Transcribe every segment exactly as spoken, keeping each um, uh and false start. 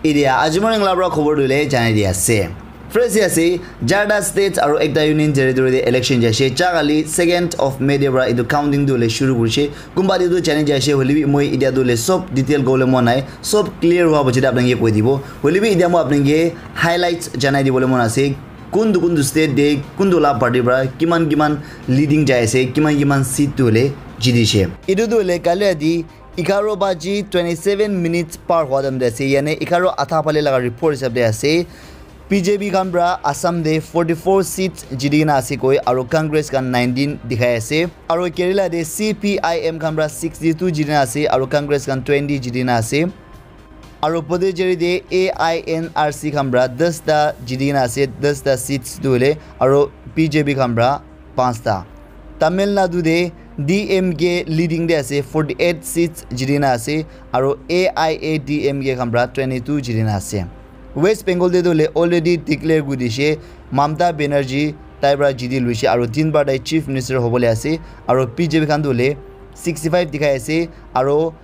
Idia aji morning la pra khobor dule janai di ase. First ase, jarta states aro ekta union territory de election jai ase. Chakali second of May de pra etu counting dule shuru kurise. Kumba de tu janai jai ase, hoile bi moi idia dule sob detail kobole mon nai. Sob clear hua pichete apnai ke koi dibo. Hoile bi idia moi apnai ke highlights janai dibole mon ase. Kuntu kuntu state de kuntu la party pra kiman kiman leading jai ase, kiman kiman seat tu hole jiti she. Etu tu hole kali adi egharo baji twenty seven minutes par hua time de ase, yane egharo adha phale laga report hisab de ase. B J P khan pra Assam de forty four seats jiti kena ase koi, aro Congress khan nineteen dikhai ase, aro Kerala de C P I M khan pra sixty two jiti kena ase, aro Congress khan twenty jiti kena ase. Aro Puducherry de A I N R C khan pra das ta jiti kena ase, das ta seats tu hole, aro B J P khan pra panch ta. Tamil Nadu de D M K leading de ase, forty eight seats jiti kena ase, aro A I A D M K khan pra twenty two jiti kena ase. West Bengal de tu hole already declare kuri dishe, Mamata Banerjee tai pra jiti luise, aro tin bar tai chief minister hobole ase, aro B J P khan tu hole sixty five dikhai ase, aro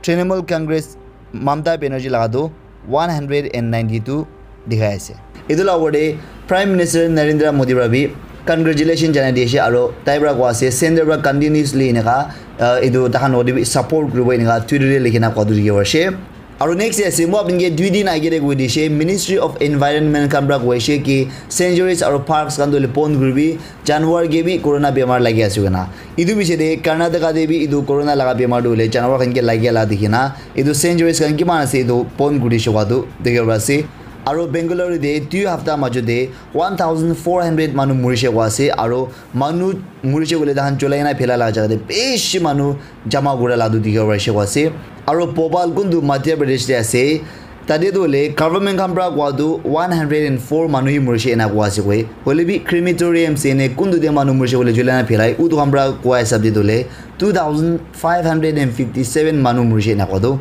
Trinamool Congress Mamata Banerjee laga tu one hundred and ninety two dikhai ase. Etu la opor de Prime Minister Narendra Modi pra bi congratulation janai di ase, aro tai pra koa ase center pra continuously eneka, uh, etu tahan ode bi support kuribo eneka Twitter de likhi na koa tu dikhi ase. Aro next de ase, moi apni ke dui din age de koi dishe, Ministry of Environment khan pra koi ase ki sanctuaries aro parks khan tu hole bon kuribi, janwar ke bi corona bemar lagi ase koina. Etu piche de Karnataka de bi etu corona laga bemar tu hole janwar khan ke lagi la dikhi na, etu sanctuaries khan kiman ase etu bon kuri dishe koa tu dikhi bo ase. Aro Bengaluru de dui hafta majo de one thousand four hundred manu murishe koa ase, aro manu murishe koile tahan cholai na phela la jaga de bishi manu jama kura la tu dikhi bo parishe koa ase. Aro Bhopal kuntu Madhya Pradesh de ase, tate tu hole government khan pra koa tu one hundred and four manu hi murishe ena koa ase koi. Hoile bi crematorium se ne kuntu de manu murishe koile cholai na phelai, utu khan pra koa hisab de tu hole two thousand five hundred and fifty seven manu murishe ena koa tu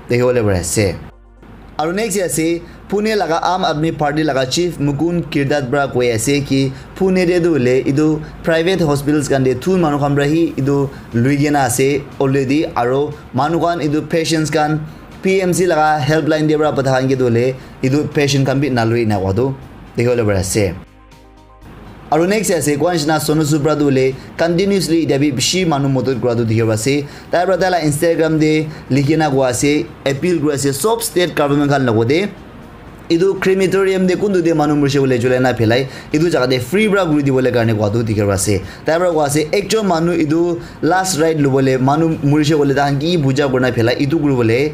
dikhi bole pari ase. Aro next ase, Pune laga Aam Aadmi Party laga chief Mukund Giridhar pra koi ase ki Pune de tu hole etu private hospitals khan de thun manu khan pra hi etu lui kena ase already, aro manu khan etu patients khan P M C laga helpline de pra patha khan ke tu hole etu patient khan bi nalui ena koa tu dikhi bole pari ase. Aro next ase, koa nishina Sonu Sood pra tu hole continuously etia bi bishi manu modot kura tu dikhi bo ase. Tai pra tai la Instagram de likhi na koa ase, appeal kuri ase sob state government khan logot de, etu crematorium de kuntu de manu murishe koile cholai na phelai, etu jaga de free pra kuri dibole karne koa tu dikhi bo ase. Tai pra koa ase, ekjon manu etu last ride lobole, manu murishe koile tahan ki puja kurina phelai, etu kuribole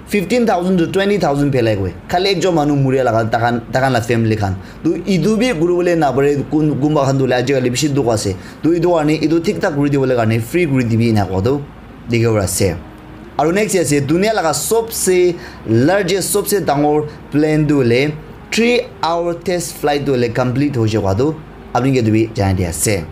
fifteen thousand to twenty thousand phelai koi. Khali ekjon manu muria laga takan, takan la family khan. Tu etu bi kuribole napare, kun, kunba khan tu hole ajikali bishi dukh ase. Tu etu karne, etu thik thak kuri dibole karne free kuri dibi ena koa tu dikhi bo ase. Aro next ase, dunia laga sobse largest, sobse dangor plane tu hole three hour test flight tu hole complete hoise koa tu apni ke tu bi janai di ase.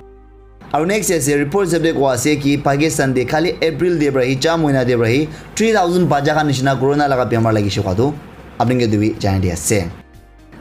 Aro next ase, report hisab de koa ase ki Pakistan de khali April de pra hi, cha mohina de pra hi, three thousand bacha khan nishina corona laga bemar lagise koa tu apni ke tu bi janai di ase.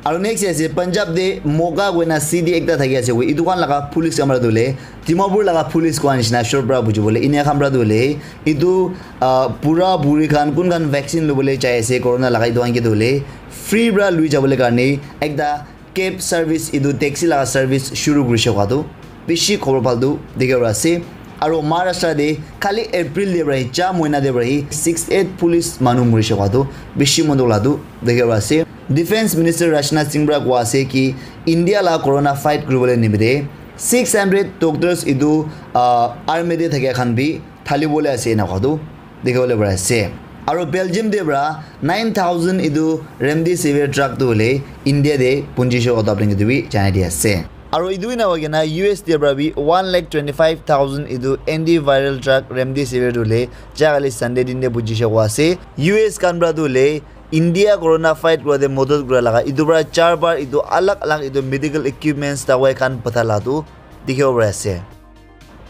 Aro next ase, Punjab de Moga koina city ekta thaki ase koi, etu khan laga police khan pra tu hole Dimapur laga police koa nishina short pra buji bole enia khan pra tu hole etu, ah, bura buri khan kun khan vaccine lobole jai ase corona laga, etu khan ke tu hole free pra lui jabole karne ekta cab service, etu taxi laga service shuru kurishe koa tu bishi khobor bhal tu dikhi bo ase. Aro Maharashtra de khali April de pra hi, cha mohina de pra hi sixty eight police manu murishe koa tu bishi mon dukh la tu dikhi bo ase. Defense Minister Rajnath Singh pra koa ase ki India la corona fight kuribole nimite six hundred doctors etu, ah, army de thakia khan bi thali bole ase ena koa tu dikhi bole pari ase. Aro Belgium de pra nine thousand etu remdesivir drug tu hole India de punjishe koa tu apni ke tu bi janai di ase. Aro etu ena hoi kena U S de pra bi one lakh twenty five thousand etu antiviral drug remdesivir tu hole ja kali Sunday din de punjishe koa ase. U S khan pra tu hole India corona fight kura de modot kura laga etu pra char bar etu alag alag etu medical equipments dawai khan patha la tu dikhi bo pari ase.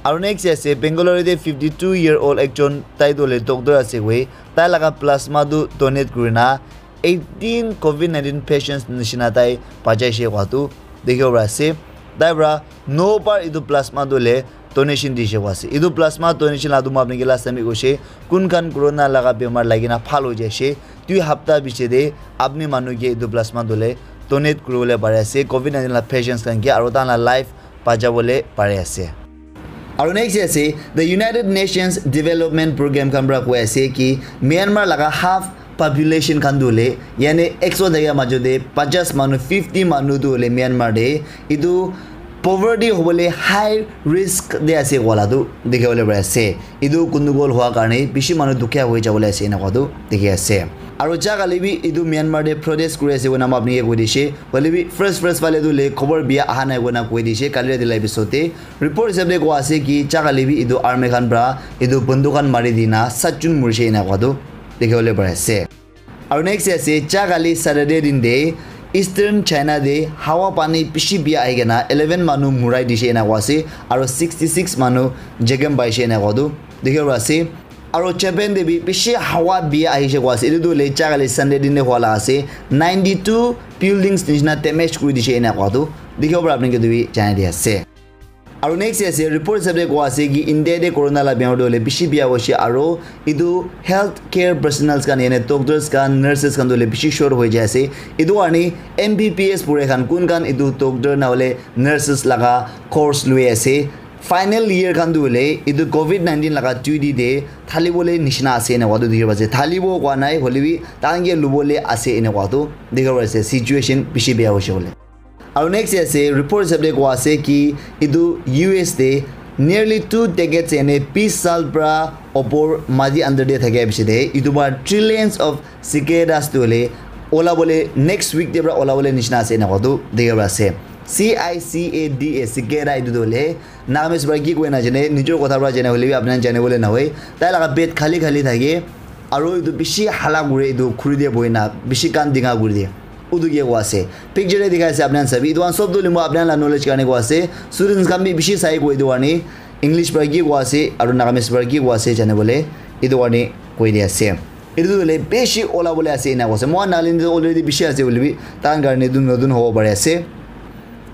Aro next ase, Bengaluru de fifty two year old ekjon, tai tu hole doctor ase koi, tai laga plasma tu donate kurina eighteen covid nineteen patients nishina tai bachaise koa tu dikhi bo pari ase. Tai pra no bar etu plasma tu hole donation dishe koa ase. Etu plasma donation la tu moi apni ke last time bi koise, kun khan corona laga bemar lagi na bhal hoi jaise, dui hapta biche de apni manu ke etu plasma dole donate kuribole pari ase covid nineteen la patients khan ke, aro tahan la life bachabole pari ase. Aro next ase, the United Nations Development Program khan pra koi ase ki Myanmar laga half population khan tu hole, yani ekso thaka majo de pachas manu, fifty manu tu hole Myanmar de etu poverty hobole high risk de ase koa la tu dikhi bole pari ase. Etu gundugol hua karne bishi manu dukhia hoi jabole ase ena koa tu dikhi ase. Aro ja kali bi etu Myanmar de protest kuri ase koina moi apni ke koi dishe. Hoile bi first first phale tu le khobor bia aha nai koina koi dishe kali rati la episode de. Report hisab de koa ase ki ja kali bi etu army khan pra etu banduk khan mari dina sat jun murishe ena koa tu dikhi bole pari ase. Aro next ase, ja kali Saturday din de Eastern China de hawa pani bishi bia ahi kena eleven manu murai dishe ena koa ase, aro sixty six manu jekem paishe ena koa tu dikhi ase. Aro Japan de bi bishi hawa bia ahishe koa ase. Etu tu le ja kali Sunday din de hua la ase. Ninety two buildings nishina damage kuri dishe ena koa tu dikhi para apni ke tu bi janai di ase. Aro next ase, report hisab de koa ase ki India de corona la bemar tu hole bishi bia hoishe aro etu health care personnels khan yani doctors khan, nurses khan tu hole bishi short hoi jai ase. Etu karne M B B S pure khan kun khan etu doctor na hole nurses laga course lui ase. Final year khan tu hole etu covid nineteen laga duty de thali bole nishina ase ena koa tu dikhi ase. Thali bo koa nai hole bi tahan ke lubole ase ena koa tu dikhi ase. Situation bishi bia hoishe bole. Aro next ase, report hisab de koa ase ki etu U S de nearly two decades yani bis saal pra opor mati under de thakia biche de etu pra trillions of cicadas tu hole ola bole next week de pra ola bole nishina ase ena koa tu dikhi ase. C I C A D A, cicada etu tu hole Nagamese pra ki koi na jane, nijor kotha pra jane hole bi apni khan jane bole na hoi. Tai laga pet khali khali thake, aro etu bishi hala kure, etu khuri de bohi na bishi kan dinga kuri de. Utu ke koa ase. Picture de dikhai ase apni khan sabi. Etu khan sob tu hole moi apni khan la knowledge karne koa ase. Students khan bi bishi sai koa etu karne. English pra ki koa ase, aro Nagamese pra ki koa ase jane bole. Etu karne koi di ase. Etu tu hole bishi ola bole ase ena koa ase. Moi khan Nagaland de already bishi ase hole bi, tahan karne etu notun hobo pari ase.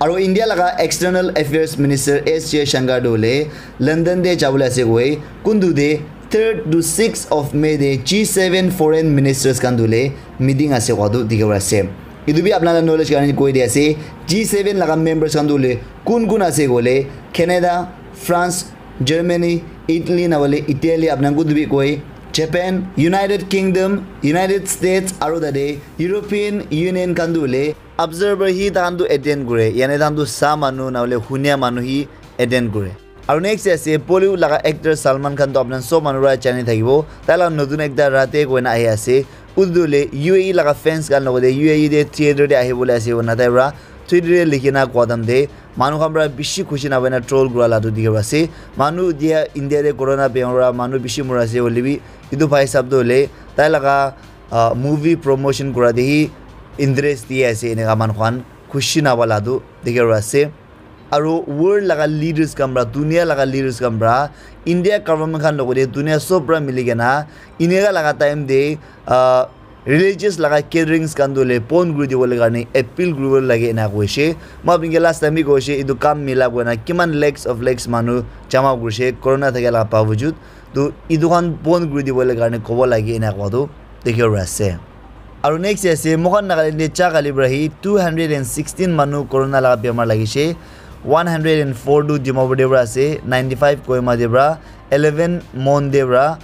Aro India laga External Affairs Minister S Jaishankar tu hole London de jabole ase koi, kuntu de third to sixth of May de G seven foreign ministers khan tu hole meeting ase koa tu dikhi ase. Etu bi apna la knowledge karne koi di ase, G seven laga members khan tu hole kun kun ase koile Canada, France, Germany, Italy na hole Italy apna kuntu bi koi, Japan, United Kingdom, United States aro tate European Union khan tu hole observer hi tahan tu attend kure, yani tahan tu sa manu na hole hunia manu hi attend kure. Aro next ase Bollywood laga actor Salman Khan tu apna sob manu para jani thakibo, tai laga notun ekta Raate koina ahi ase. Utu tu hole U A E laga fans khan logote U A E te theater te ahi bole ase koina tai para Twitter te likhi na koa time te manu khan para bishi khushi na hoina troll kura la tu dikhi ase. Manu dia India te corona bemar para manu bishi mura ase hoile bi etu bhai sahab tu hole tai laga ah, movie promotion kura te hi interest di ase eneka manu khan khushi na howa la tu dikhi ase. Aro world laga leaders khan para, dunia laga leaders khan para, India government khan logote dunia sob para mili kena eneka laga time te ah, religious laga gatherings khan tu hole bon kuri dibole karne appeal kuribo lage ena koishe. Moi apni ke last time bi koishe, etu kam mila koina kiman lakhs of lakhs manu jama kurishe corona thakia laga bawajud. Tu etu khan bon kuri dibole karne kobo lage ena koa tu dikhi ase. Aro next ase, moikhan Nagaland te ja kali para hi two hundred and sixteen manu corona laga bemar lagishe. One hundred and four tu Dimapur te para ase, ninety five Kohima te para, eleven Mon te para,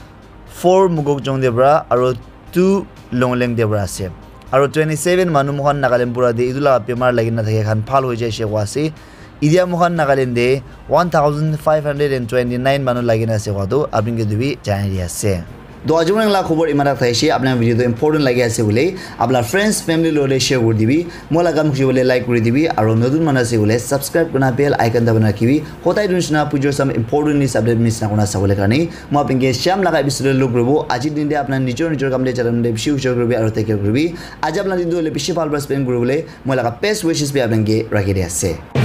four Mokokchung te para, aro two Longleng te para ase. Aro twenty seven manu moikhan Nagaland pura te etu laga bemar lagi na thaka khan bhal hoi jaise koa ase. Etia moikhan Nagaland te one thousand five hundred and twenty nine manu lagi na ase koa tu apni ke tu bi janai di ase. To aji manu la khobor iman tak thaise, apni video tu important lagi ase bole, apna friends, family logote share kuri dibi, moi la kam khushi bole like kuri dibi, aro notun manu ase bole subscribe kurna bell icon dabai na rakhibi. Hotai tu nishina pujor sam important news update miss na kurna sabole karne. Moi apni ke sham laga episode te log kuribo. Aji din te apna nijor nijor kam te jana te bishi hushar kuribi aro take care kuribi. Aji apna din tu hole bishi bhal para spend kuribole moi laga best wishes bi apni ke rakhi di ase.